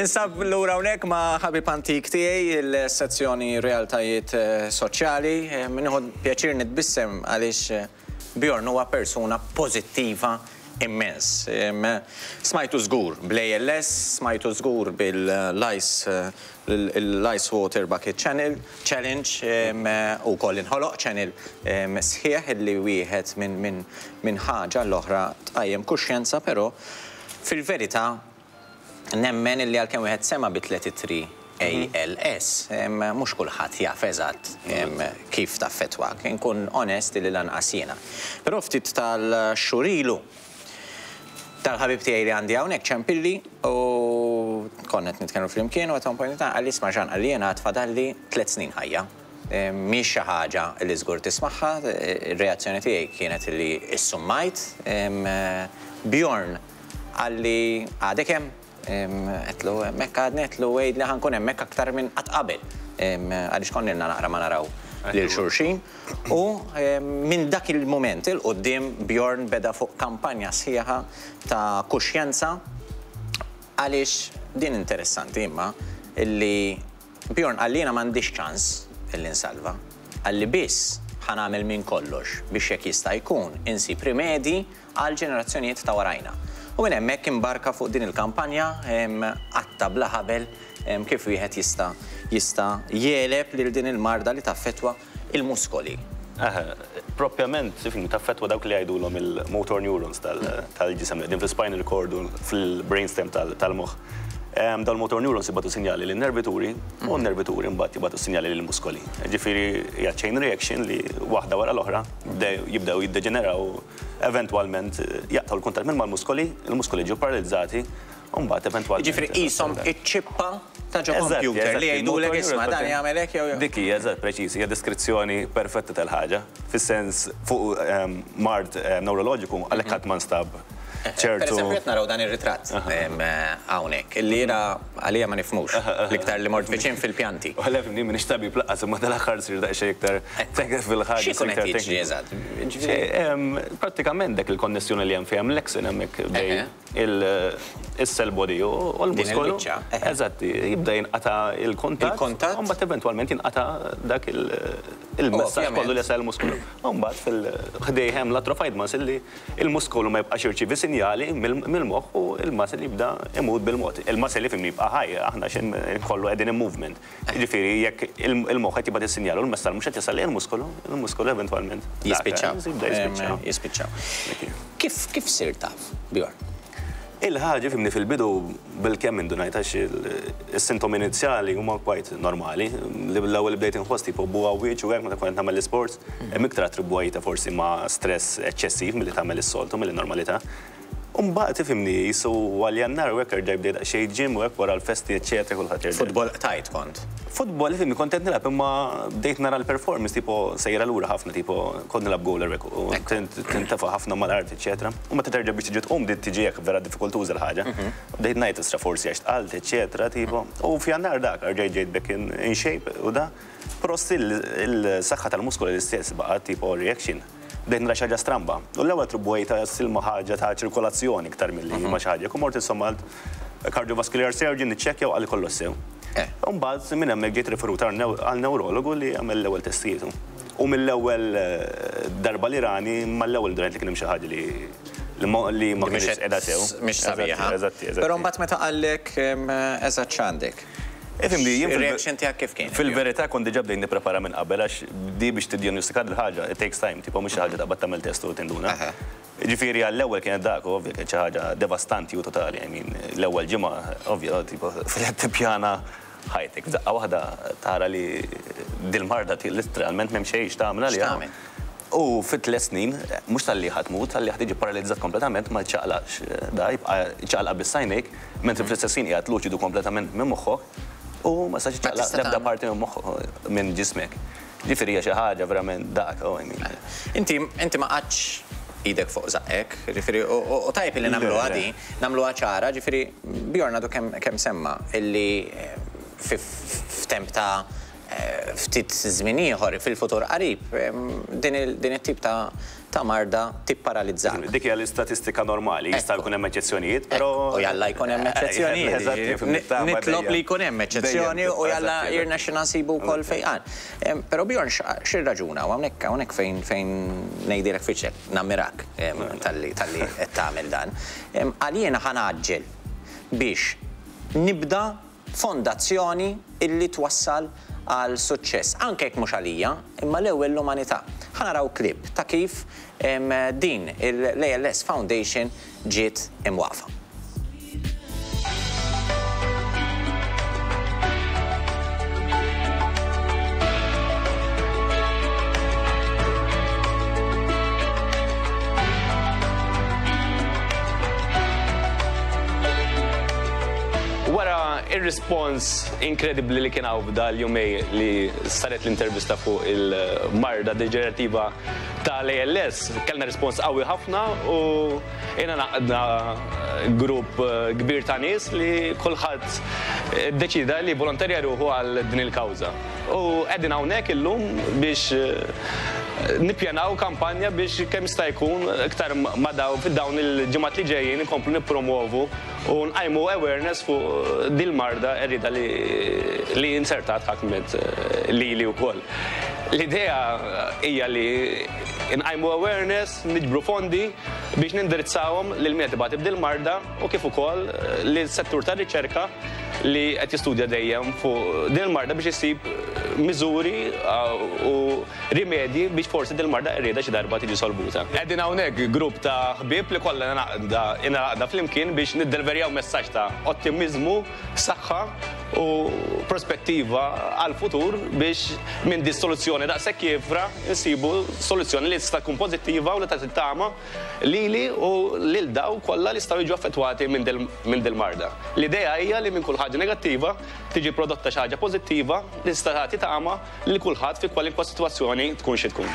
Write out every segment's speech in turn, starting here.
Ninsab lura hawnhekk ma' ħabib antik tiegħi, il-sezzjoni Realtajiet Soċjali. Nieħu pjaċir nitbissem għaliex Bjorn huwa persuna pożittiva immens. Smajtu żgur bl-ALS, smajtu żgur bil-Ice l-Ice Water Bucket Channel Challenge u wkoll inħoloq channel sħiħ li wieħed minn ħaġa għall-oħra tqajjem kuxjenza però fil-verità nemmen illi għalkemm wieħed sema' bi tlett ittri ALS, mhux kulħadd jaf eżatt kif taffettwak. Inkun onest illi lanqas jiena. Però ftit tal-xhur ilu, tal-ħabib tiegħi li għandi hawnhekk ċempilli u konna qed nitkellmu flimkien u at one point in time qalli isma' Jean qalli jiena għad fadalli tlett snin ħajja. Mhix xi ħaġa li żgur tismagħha, ir-reazzjoni tiegħi kienet li issummajt. Bjorn Qalli, Għadek hemm? Għedtlu, Hemmhekk għadni, għedtlu, għidli ħa nkun hemmhekk aktar minn qatt qabel. Għaliex konna ilna naqra ma naraw lil xulxin. U minn dak il-mument 'il quddiem Bjorn beda fuq kampanja sħiħa ta' kuxjenza għaliex din interessanti imma illi Bjorn qalli jiena m'għandix ċans illi nsalva. Qalli biss ħa nagħmel minn kollox biex jekk jista' jkun insib rimedji għall-ġenerazzjonijiet ta' warajna. U minn hemmhekk imbarka fuq din il-kampanja qatta' bla ħabel kif wieħed jista' jista' jegħleb lil din il-marda li taffettwa il-muskoli. Eħe, propjament, ifhimni, taffettwa dawk li jgħidulhom il-motor neurons tal-ġisem li qegħdin fl-spinal cord u fil-brainstem tal-moħħ. Dawn il-motor neurons jibagħtu sinjali lin-nervituri u n-nervituri mbagħad jibagħtu sinjali lill-muskoli. Ġifieri hija chain reaction li waħda wara l-oħra jibdew jiddeġeneraw u eventwalment jaqtgħu l-kuntatt minn mal-muskoli, il-muskoli jiġu paralizzati U mbagħad eventwalment. Jiġifieri qishom iċ-ċippa ta' ġo kompjuter li jgħidulek isma' dan jagħmel hekk jew. Dik hi, eżatt, preċiż, hija deskrizzjoni perfetta tal-ħaġa. Fis-sens fuq mard newroloġiku għalhekk ħadd ma nstab ċertu. Pereżempju qed naraw dan ir-ritratt hawnhekk illi jiena għalija ma nifhmux, l-iktar li mort viċin fil-pjanti. U le fhimni, m'iniex tabib lanqas imma dal-aħħar sirt daqsxejn iktar fil-ħaġa. X'ikun qed jiġri eżatt? Jiġifieri. Prattikament dak il-konnessjoni li hemm fejn hemm l-axon hemmhekk bejn is-cell body u l-muskolu. Eżatt, jibda jinqata' il-kuntatt. Il-kuntatt. U mbagħad eventwalment jinqata' dak il-messaġġ kollu li jasal il-muskolu. U mbagħad fil-ħdejh hemm l-atrophied muscle li l-muskolu ma jibqax jirċievi sinjali mill-moħħ u l-muscle jibda imut bil-mod. Il-muscle ifhimni jibqa' ħaj, aħna x'in kollu qegħdin in movement. Jiġifieri jekk il-moħħ qed jibgħat is-sinjal u l-messaġġ mhux qed jasal lejn il-muskolu, il-muskolu eventwalment Jispiċċaw. Jibda jispiċċa. Jispiċċaw. Kif kif sirt taf, Bjorn? Il-ħaġa fimni fil-bidu bilkemm indunajt għax is-sintomi inizjali huma quite normali. L-ewwel li bdejt inħoss tipo bugħawwieġ u hekk meta kont qed nagħmel l-isports, hemm iktar attribwajtha forsi ma' stress eċċessiv milli tagħmel is-soltu milli normalità. U mbagħad ifhimni qisu għal Jannar u hekk erġajt bdejt daqsxejn gym u hekk wara l-festi eċċetera kulħadd jerġa'. Futbol qtajt kont? Futbol ifhimni kont qed nilgħab imma bdejt nara l-performance tipo sejra lura ħafna tipo kont nilgħab goaler hekk u tintefa' ħafna mal-art eċċetera. U meta terġa' biex tiġi tqum bdiet tiġi hekk vera diffikultuża l-ħaġa. Bdejt ngħid isra forsi għax tqalt eċċetera tipo. U f'Jannar dak erġajt ġejt back in shape u da. Però still il-saħħa tal-muskoli l-istess baqgħet tipo reaction. Bdejt nara xi ħaġa stramba. U l-ewwel attribwejtha still ma' ħaġa ta' ċirkolazzjoni iktar milli ma' xi ħaġa. U mort insomma għand cardiovascular surgeon niċċekkja u qalli kollox sew. U mbagħad minn hemmhekk ġejt riferut għal newrologu li għamel l-ewwel testijiet. U mill-ewwel darba li rani mal-ewwel indunajt li kien hemm xi ħaġa li li ma kinitx qiegħda sew. Mhix sabiħa. Eżatt, eżatt. Però mbagħad meta qallek eżatt x'għandek? Ifhimni, jien Ir-reaction tiegħek kif kien? Fil-verità kont diġà bdejt nipprepara minn qabel għax di biex tiddiagnostika dil-ħaġa, it takes time, tipo mhux xi ħaġa taqbad tagħmel test u tinduna. Ġifieri għall-ewwel kienet dak, ovvja kienet xi ħaġa devastanti u totali, I mean, l-ewwel ġimgħa, ovvja, tipo qed tippjana ħajtek. F'daqqa waħda tara li dil-marda literalment m'hemm xejn x'tagħmel għaliha. X'tagħmel? U fi tliet snin, mhux talli ħa tmut, talli ħa tiġi paralizzat kompletament, ma ċċaqlaqx da, jibqa' ċċaqlaq biss għajnejk, mentri fl-istess ħin qiegħed luċidu kompletament minn moħħok u ma tistax iċċaqlaq l-ebda parti minn moħħok minn ġismek. Ġifieri hija xi ħaġa verament dak, oh, I mean. Inti inti ma qgħadtx idek fuq żaqqek, ġifieri u tajjeb illi nagħmluha di, nagħmluha ċara, ġifieri Bjorn għadu kemm kemm semma illi f'temp ta' ftit żmien ieħor fil-futur qarib din it-tip ta' ta' marda tipparalizzak. Dik hija l-istatistika normali, jista' jkun hemm eċċezzjonijiet, però. U jalla jkun hemm eċċezzjonijiet. Nitlob li jkun hemm eċċezzjoni u jalla jirnexxina nsibu wkoll fejqan. Però Bjorn x'irraġuna u hawnhekk hawnhekk fejn fejn ngħidilek f'wiċċek, nammirak talli talli qed tagħmel dan. Qal jiena ħa ngħaġġel biex nibda fondazzjoni illi twassal għal suċċess, anke jekk mhux għalija, imma l-ewwel l-umanità. Ħa naraw clip ta' kif din l-ALS Foundation ġiet imwaqqfa. Wara ir-rispons inkredibbli li kien hawn f'dal-jumej li saret l-intervista fuq il-marda deġenerativa tal-ALS, kellna rispons qawwi ħafna u ingħaqadna grupp kbir ta' nies li kulħadd iddeċieda li jivvolontarja ruħu għal din il-kawża. U qegħdin hawnhekk illum biex nippjanaw kampanja biex kemm jista' jkun iktar ma' dawn il-ġimgħat li ġejjin inkomplu nippromwovu u nqajmu awareness fuq dil-marda qerrieda li li inzertat ħakmet lili wkoll. L-idea hija li nqajmu awareness, niġbru fondi biex nindirizzawhom lil min qed ibati b'dil-marda u kif ukoll lis-settur tar-riċerka li qed jistudja dejjem fuq din il-marda biex isib miżuri u rimedji biex forsi dil-marda qerrieda xi darba tiġi solvuta. Qegħdin hawnhekk grupp ta' ħbieb li kollha ingħaqda flimkien biex niddelverjaw messaġġ ta' ottimiżmu, saħħa u prospettiva għall-futur biex minn di soluzzjoni daqshekk kiefra nsibu soluzzjoni li tista' tkun pożittiva u li tagħti tama lili u lil dawk kollha li jistgħu jiġu affettwati minn dil-marda. L-idea hija li minn kull ħaġa negattiva tiġi prodotta xi ħaġa pożittiva li tista' tagħti tama lil kulħadd fi kwalinkwa sitwazzjoni tkun xi tkun.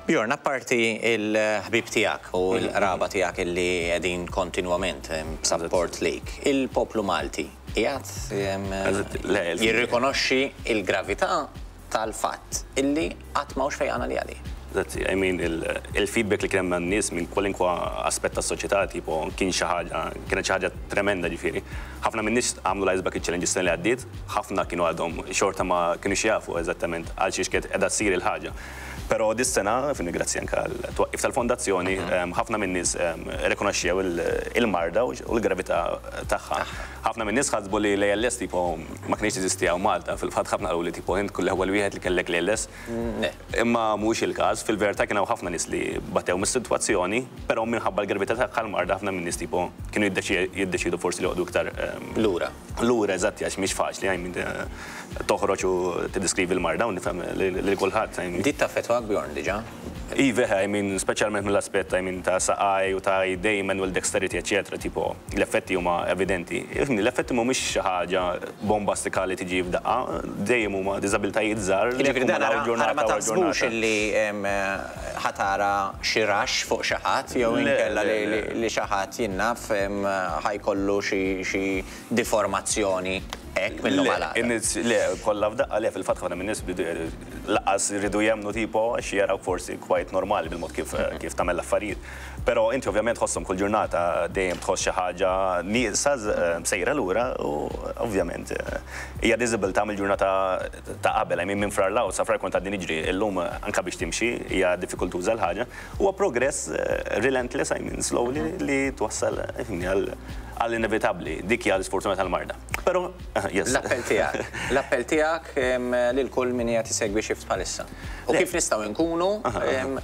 Bjorn, apparti il-ħbib tiegħek u l-qraba tiegħek illi qegħdin kontinwament b'sapport lik, il-poplu Malti qiegħed jirrikonoxxi l-gravità tal-fatt illi qatt m'hawnx fejqan għaliha di. Eżatt, I mean, il-feedback li kien hemm man-nies minn kwalinkwa aspett tas-soċjetà tipo kien xi ħaġa, kienet xi ħaġa tremenda ġifieri. Ħafna min-nies għamlu l-Ice Bucket Challenge is-sena li għaddiet, ħafna kienu għadhom xorta ma kinux jafu eżattament għal xiex kienet qiegħda ssir il-ħaġa. Però dis-sena, fimni grazzi anke għal twaqqif tal-fondazzjoni, ħafna min-nies rrikonoxxew il-marda u l-gravità tagħha. Ħafna min-nies ħasbu li l-ALS tipo ma kinitx teżisti hawn Malta. Fil-fatt ħafna qaluli tipo int l-ewwel wieħed li kellek l-ALS. Imma mhuwiex il-każ. Fil-verità kien hawn ħafna nies li batew mis-sitwazzjoni, però minħabba l-gravità tagħha l-marda ħafna min-nies tipo kienu jiddeċiedu forsi li joqogħdu iktar Lura. Lura, eżatt, għax mhix faċli, I mean, toħroġ u tiddeskrivi l-marda u nifhem lil kulħadd. I mean. Bdiet taffettwak Bjorn diġà? Iva, I mean, speċjalment mill-aspett, I mean, ta' saqaj u ta' idej, manual dexterity, eċċetera, tipo, l-effetti huma evidenti. Ifhimni, l-effetti mhumiex xi ħaġa bombastika li tiġi f'daqqa, dejjem huma diżabilitajiet żgħar li Jiġifieri dan jakkumulaw ara ġurnata ma wara taħsbux ġurnata. illi ħa tara xi raxx fuq xi ħadd jew Le, inkella le, li le. li xi ħadd jien naf ħa jkollu xi xi diformazzjoni hekk minnhom Le, għal għada. in-nies, le, kollha f'daqqa, le, fil-fatt ħafna min-nies laqas iridu jemmnu tipo għax jaraw forsi quite normali bil-mod kif kif tagħmel l-affarijiet. Però inti ovvjament tħosshom kull ġurnata dejjem tħoss xi ħaġa nieqsa sejra lura u ovvjament hija diżabilità mill-ġurnata ta' qabel, I mean minn frar 'l sa frar kont għadni niġri, illum anke biex timxi hija diffikultuża l-ħaġa. Huwa progress relentless, I mean slowly li twassal ifhimni għall-inevitabbli. Dik hija l-isfortuna tal-marda. Però yes. L-appell tiegħek, l-appell tiegħek lil kull min qiegħed isegwi Shift bħalissa. U Le. kif nistgħu nkunu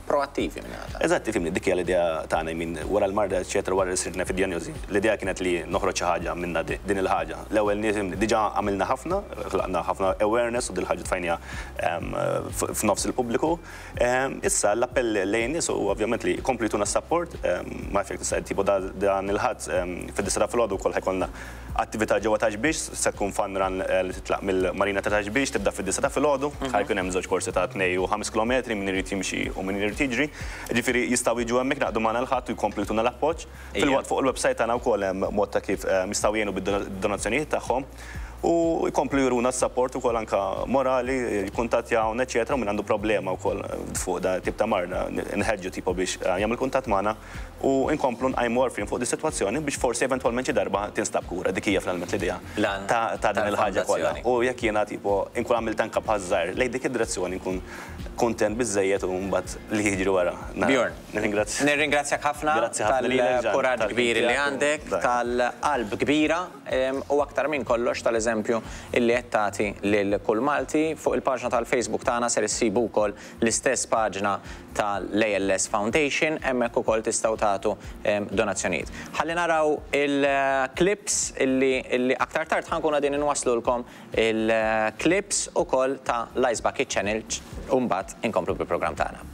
proattivi minn għada. Eżatt, ifhimni, dik hija l-idea tagħna, I mean, wara l-marda, eċċetera, wara li sirna fid-dijanjosi. L-idea kienet li noħroġ xi ħaġa minna din il-ħaġa. L-ewwel nies diġà għamilna ħafna, ħlaqna ħafna awareness u dil-ħaġa tfajniha f'nofs il-pubbliku. Issa l-appell lejn nies u ovvjament li jkomplu jtuna s-support, ma jfek tista' tipo dan il-ħadd fid-9 Fid-disgħa ta' filgħodu wkoll ħa jkollna attività ġewwa Ta' Xbiex, se tkun fun run li titlaq mill-Marina ta' Ta' Xbiex, tibda fid-disgħa ta' filgħodu. Ħa jkun hemm żewġ korsi ta' 2 u 5 kilometri, min irid jimxi u min irid jiġri. Ġifieri jistgħu jiġu hemmhekk naqdu magħna l-Ħadd u jkomplu jtuna l-appoġġ. Filwaqt fuq il-website tagħna wkoll hemm mod ta' kif jistgħu jgħinu bid-donazzjonijiet tagħhom u jkomplu juruna s-support ukoll anka morali, jikkuntattjawna, eċetera, u min għandu problema wkoll fuq da tip ta' marda, nħeġġu tipo biex jagħmel kuntatt magħna u nkomplu nqajmu għarfien fuq di sitwazzjoni biex forsi eventwalment xi darba tinstab kura. Dik hija finalment l-idea ta' din il-ħaġa kollha. U jekk jiena tipo nkun għamilt anka pass żgħir lejn dik id-direzzjoni, nkun kuntent biżejjed u mbagħad li jiġri wara. Bjorn. Nirringrazzja. Nirringrazzjak ħafna tal-kuraġġ kbir li għandek, tal-qalb kbira u aktar minn kollox tal-eżempju illi qed tagħti lil kull Malti. Fuq il-paġna tal-Facebook tagħna ser issibu wkoll l-istess paġna tal-ALS Foundation, hemmhekk ukoll tistgħu tagħtu donazzjonijiet. Ħalli naraw il-clips illi aktar tard ħa nkunu qegħdin inwaslulkom il-clips ukoll ta' l-Ice Bucket Challenge u mbagħad inkomplu bil-programm tagħna.